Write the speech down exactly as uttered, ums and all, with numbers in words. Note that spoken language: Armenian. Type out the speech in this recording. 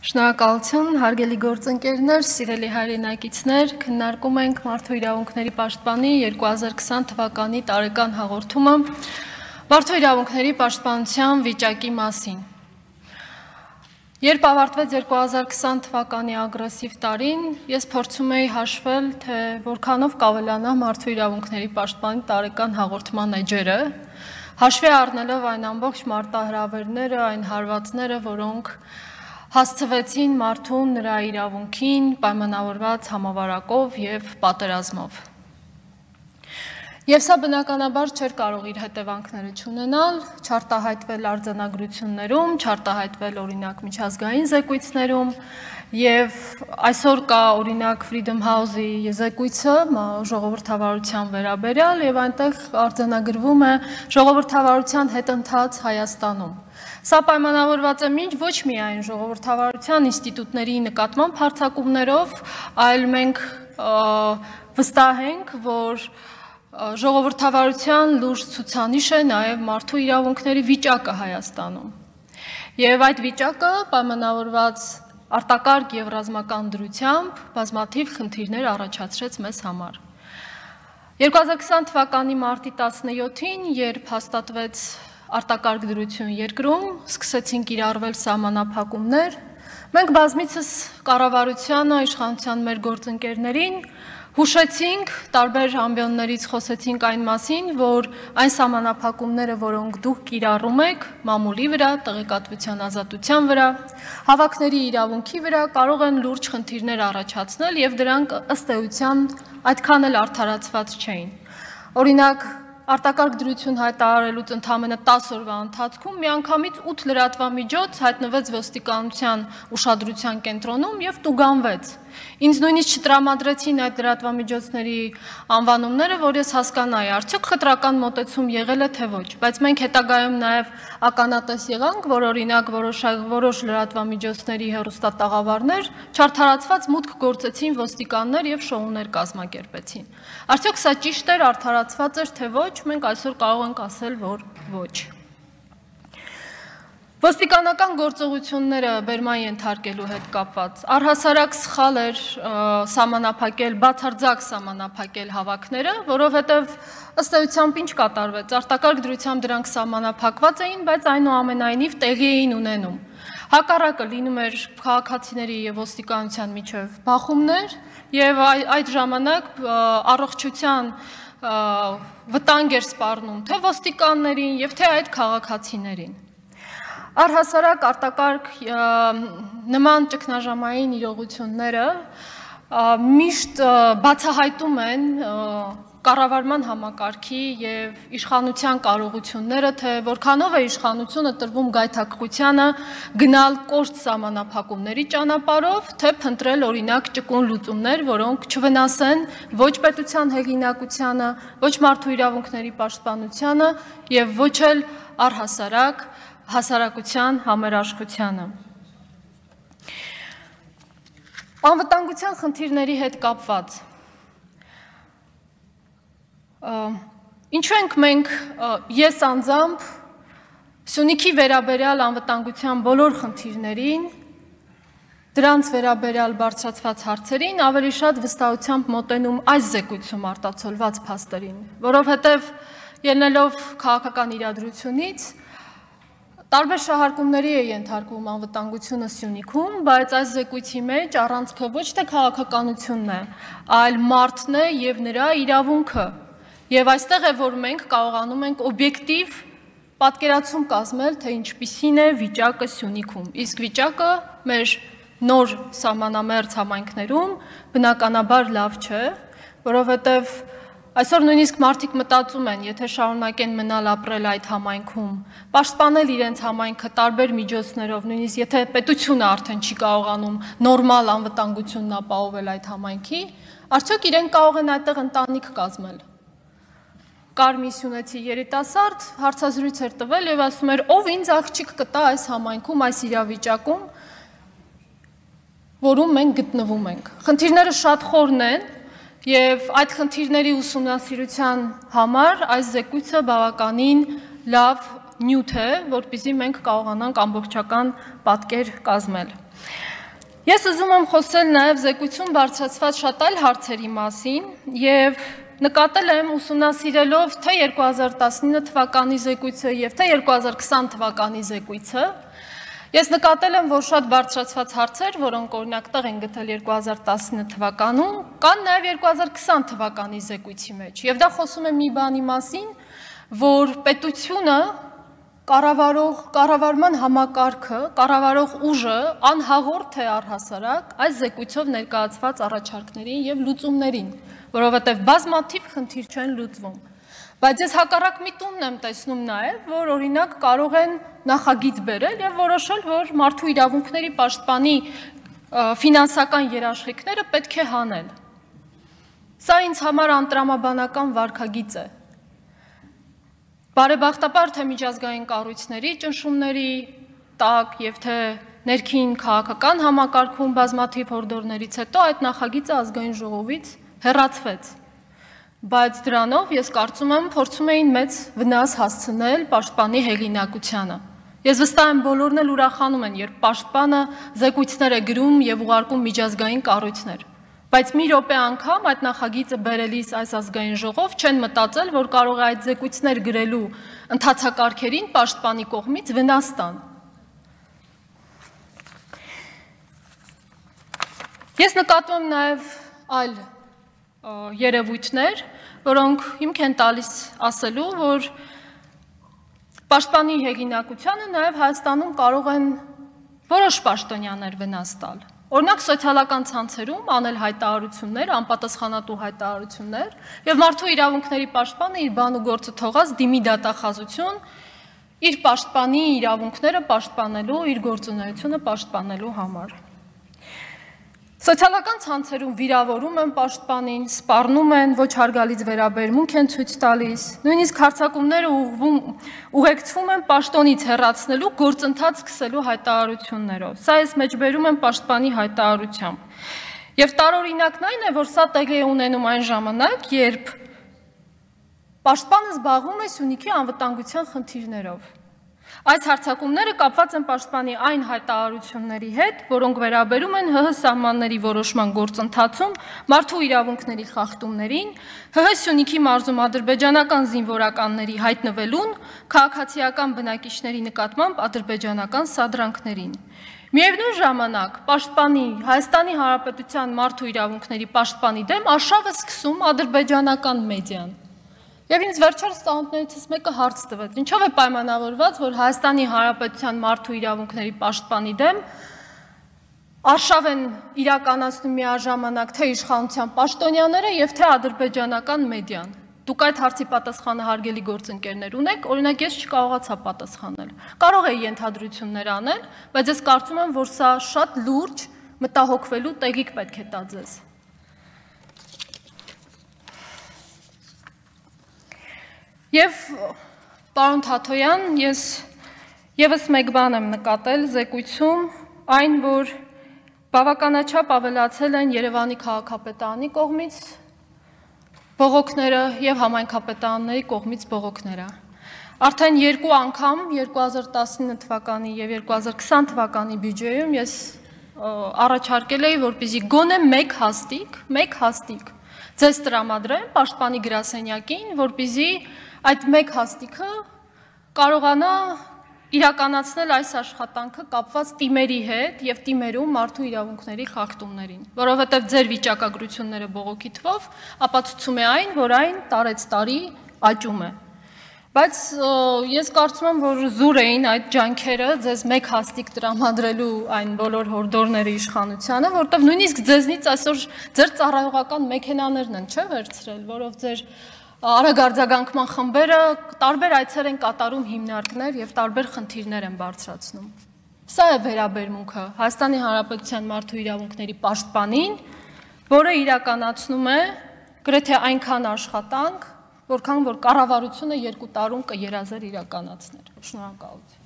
Շնորհակալություն, հարգելի գործընկերներ, սիրելի հայրենակիցներ, քննարկում ենք Մարդու իրավունքների պաշտպանի երկու հազար քսան թվականի տարեկան հաղորդումը Մարդու իրավունքների պաշտպանության վիճակի մասին։ Երբ ավարտվեց երկու հազար քսան թվականի ագրեսիվ տարին, ես փորձում էի հաշվել, թե որքանով կավելանա Մարդու իրավունքների պաշտպանի տարեկան հաղորդման էջերը, հաշվի առնելով այն ամբողջ մարտահրավերները, այն հարվածները, որոնք հասցվեցին մարդուն նրա իրավունքին պայմանավորված համավարակով և պատերազմով։ Եվ սա բնականաբար չէր կարող իր հետևանքները չունենալ, չարտահայտվել արձանագրություններում, չարտահայտվել օրինակ միջազգային զեկույցներում և այսօր կա օրինակ Freedom House-ի զեկույցը ժողովրդավարության վերաբերյալ և այնտեղ արձանագրվում է ժողովրդավարության հետընթաց Հայաստանում։ Սա պայմանավորված է մինչ ոչ միայն ժողովրդավարության ինստիտուտների նկատմամբ հարձակումներով, այլ մենք վստահ ենք, որ ժողովրդավարության լուրջ ցուցանիշ է նաև մարդու իրավունքների վիճակը Հայաստանում։ Եվ այդ վիճակը պայմանավորված արտակարգ և ռազմական դրությամբ բազմաթիվ խնդիրներ առաջացրեց մեզ համար։ երկու հազար քսան թվականի մարտի տասնյոթին, երբ հաստատվեց արտակարգ դրություն երկրում, սկսեցին կիրառվել սահմանափակումներ, մենք բազմիցս կառավարությանը, իշխանության մեր գործընկերներին հուշեցինք, տարբեր ամբիոններից խոսեցինք այն մասին, որ այն սահմանափակումները, որոնք դուք կիրառում եք մամուլի վրա, տեղեկատվության ազատության վրա, հավաքների իրավունքի վրա, կարող են լուրջ խնդիրներ առաջացնել և դրանք ըստ էության այդքան էլ արդարացված չէին։ Օրինակ, արտակարգ դրություն հայտարարելուց ընդամենը տասը օրվա ընթացքում միանգամից ութ լրատվամիջոց հայտնվեց ոստիկանության ուշադրության կենտրոնում և տուգանվեց։ Ինձ նույնիսկ չտրամադրեցին այդ լրատվամիջոցների անվանումները, որ ես հասկանայի, արդյոք խտրական մոտեցում եղել է թե ոչ, բայց մենք հետագայում նաև ականատես եղանք, որ օրինակ որոշ լրատվամիջոցների հեռուստատաղավարներ չարդարացված մուտք գործեցին ոստիկաններ և շոուներ կազմակերպեցին։ Արդյոք սա ճիշտ էր, արդարացված էր թե ոչ, մենք այսօր կարող ենք ասել, որ ոչ։ Ոստիկանական գործողությունները բերման ենթարկելու հետ կապված առհասարակ սխալ էր սահմանափակել, բացարձակ սահմանափակել հավաքները, որովհետև ըստ էությամբ ինչ կատարվեց, արտակարգ դրությամբ դրանք սահմանափակված էին, բայց այնուամենայնիվ տեղի էին ունենում։ Հակառակը լինում էր քաղաքացիների և ոստիկանության միջև բախումներ և այդ ժամանակ առողջության վտանգ էր սպառնում թե ոստիկաններին և թե այդ քաղաքացիներին։ Առհասարակ արտակարգ նման ճգնաժամային իրողությունները միշտ բացահայտում են կառավարման համակարգի և իշխանության կարողությունները, թե որքանով է իշխանությունը տրվում գայթակղությանը գնալ կոշտ սահմանափակումների ճանապարհով, թե փնտրել օրինակ ճկուն լուծումներ, որոնք չվնասեն ոչ պետության հեղինակությանը, ոչ մարդու իրավունքների պաշտպանությանը և ոչ էլ առհասարակ հասարակության համերաշխությանը։ Անվտանգության խնդիրների հետ կապված Ինչու ենք մենք, ես անձամբ Սյունիքի վերաբերյալ անվտանգության բոլոր խնդիրներին, դրանց վերաբերյալ բարձրացված հարցերին ավելի շատ վստահությամբ մոտենում այս զեկույցում արտացոլված փաստերին, որովհետև ելնելով քաղաքական իրադրությունից տարբեր շահարկումների է ենթարկվում անվտանգությունը Սյունիքում, բայց այս զեկույցի մեջ առանցքը ոչ թե քաղաքականությունն է, այլ մարդն է և նրա իրավունքը։ Եվ այստեղ է, որ մենք կարողանում ենք օբյեկտիվ պատկերացում կազմել, թե ինչպիսին է վիճակը Սյունիքում, իսկ վիճակը մեր նոր սահմանամերձ համայնքներում բնականաբար լավ չէ, որովհետև այսօր նույնիսկ մարդիկ մտածում են, եթե շարունակեն մնալ ապրել այդ համայնքում, պաշտպանել իրենց համայնքը տարբեր միջոցներով, նույնիսկ եթե պետությունը արդեն չի կարողանում նորմալ անվտանգությունն ապահովել այդ համայնքի, արդյոք իրենք կարող են այդտեղ ընտանիք կազմել։ Կար մի սյունեցի երիտասարդ, հարցազրույց էր տվել և ասում էր, ով ինձ աղջիկ կտա այս համայնքում, այս իրավիճակում, որում մենք գտնվում ենք։ Խնդիրները շատ խորն են և այդ խնդիրների ուսումնասիրության համար այս զեկույցը բավականին լավ նյութ է, որպեսզի մենք կարողանանք ամբողջական պատկեր կազմել։ Ես ուզում եմ խոսել նաև զեկույցում բարձրացված շատ այլ հարցերի մասին եւ նկատել եմ ուսումնասիրելով թե երկու հազար տասնինը թվականի զեկույցը եւ թե երկու հազար քսան թվականի զեկույցը, ես նկատել եմ, որ շատ բարձրացված հարցեր, որոնք օրինակ տեղ են գտել երկու հազար տասնինը թվականում, կան նաև երկու հազար քսան թվականի զեկույցի մեջ։ Եվ դա խոսում է մի բանի մասին, որ պետությունը կառավարող կառավարման համակարգը, կառավարող ուժը անհաղորդ է առհասարակ այս զեկույցով ներկայացված առաջարկներին եւ լուծումներին, որովհետեւ բազմաթիվ խնդիր չեն լուծվում։ Բայց ես հակառակ միտումն եմ տեսնում նաև, որ օրինակ կարող են նախագիծ բերել եւ որոշել, որ մարդու իրավունքների պաշտպանի ֆինանսական երաշխիքները պետք է հանել։ Սա ինձ համար անտրամաբանական վարքագիծ է։ Բարեբախտաբար թե միջազգային կառույցների ճնշումների տակ եւ թե ներքին քաղաքական համակարգում բազմաթիվ հորդորներից հետո այդ նախագիծը ազգային ժողովից հեռացվեց։ Բայց դրանով ես կարծում եմ փորձում էին մեծ վնաս հասցնել պաշտպանի հեղինակությանը։ Ես վստահ եմ բոլորն էլ ուրախանում են, երբ պաշտպանը զեկույցներ է գրում եւ ուղարկում միջազգային կառույցներ։ Բայց մի րոպե անգամ այդ նախագիծը բերելիս այս ազգային ժողով չեն մտածել, որ կարող է այդ զեկույցներ գրելու ընթացակարգերին պաշտպանի կողմից վնաս տան։ Ես նկատում եմ նաև այլ երևույթներ, որոնք հիմք են տալիս ասելու, որ պաշտպանի հեղինակությանը նաև Հայաստանում կարող են որոշ պաշտոնյաներ վնաս տալ։ Օրինակ սոցիալական ցանցերում անել հայտարարություններ, անպատասխանատու հայտարարություններ եւ մարդու իրավունքների պաշտպանը իր բան ու գործը թողած դիմի դատախազություն իր պաշտպանի իրավունքները պաշտպանելու, իր գործունեությունը պաշտպանելու համար։ Սոցիալական ցանցերում վիրավորում են պաշտպանին, սպառնում են, ոչ հարգալից վերաբերմունք են ցույց տալիս, նույնիսկ հարձակումները ուղղվում ուղեկցվում են պաշտոնից հեռացնելու գործընթաց սկսելու հայտարարություններով։ Սա ես մեջբերում եմ պաշտպանի հայտարարությամբ։ Եվ տարօրինակն այն է, որ սա տեղի է ունենում այն ժամանակ, երբ պաշտպանը զբաղվում է Սյունիքի անվտանգության խնդիրներով։ Այս հարձակումները կապված են պաշտպանի այն հայտարարությունների հետ, որոնք վերաբերում են ՀՀ սահմանների որոշման գործընթացում մարդու իրավունքների խախտումներին, ՀՀ Սյունիքի մարզում ադրբեջանական զինվորականների հայտնվելուն, քաղաքացիական բնակիչների նկատմամբ ադրբեջանական սադրանքներին։ Միևնույն ժամանակ պաշտպանի Հայաստանի Հանրապետության մարդու իրավունքների պաշտպանի դեմ արշավ է սկսում ադրբեջանական մեդիան։ Եվ ինձ վերջերս ծանոթներից մեկը հարց տվեց, ինչով է պայմանավորված, որ Հայաստանի Հանրապետության մարդու իրավունքների պաշտպանի դեմ արշավ են իրականացնում միաժամանակ թե իշխանության պաշտոնյաները եւ թե ադրբեջանական մեդիան։ Դուք այդ հարցի պատասխանը հարգելի գործընկերներ ունեք, օրինակ ես չկարողացա պատասխանել։ Կարող էի ենթադրություններ անել, բայց ես կարծում եմ, որ սա շատ լուրջ մտահոգվելու տեղիք պետք է տա ձեզ։ Եվ պարոն Թաթոյան, ես եւս մեկ բան եմ նկատել զեկույցում, այն, որ բավականաչափ ավելացել են Երևանի քաղաքապետարանի կողմից բողոքները եւ համայնքապետարանների կողմից բողոքները։ Արդեն երկու անգամ երկու հազար տասնինը թվականի եւ երկու հազար քսան թվականի բյուջեում ես առաջարկել էի, որպեսզի գոնե մեկ հաստիկ, մեկ հաստիկ ձեզ տրամադրեմ պաշտպանի գրասենյակին, որպեսզի այդ մեկ հաստիքը կարողանա իրականացնել այս աշխատանքը կապված թիմերի հետ եւ թիմերում մարդու իրավունքների խախտումներին, որովհետեւ ձեր վիճակագրությունները բողոքի թվով ապացուցում է այն, որ այն տարեց տարի աճում է։ Բայց ես կարծում եմ, որ զուր էին այդ ջանքերը ձեզ մեկ հաստիկ տրամադրելու այն բոլոր հորդորները իշխանությանը, որտեղ նույնիսկ ձեզնից այսօր ձեր ծառայողական մեքենաներն են, չէ՞, վերցրել, որով ձեր արագարձագանքման խմբերը տարբեր այցեր են կատարում հիմնարկներ եւ տարբեր խնդիրներ են բարձրացնում։ Սա է վերաբերմունքը Հայաստանի Հանրապետության մարդու իրավունքների պաշտպանին, որը իրականացնում է գրեթե այնքան աշխատանք, որքան որ կառավարությունը երկու տարում կերազեր իրականացներ։ Շնորհակալություն։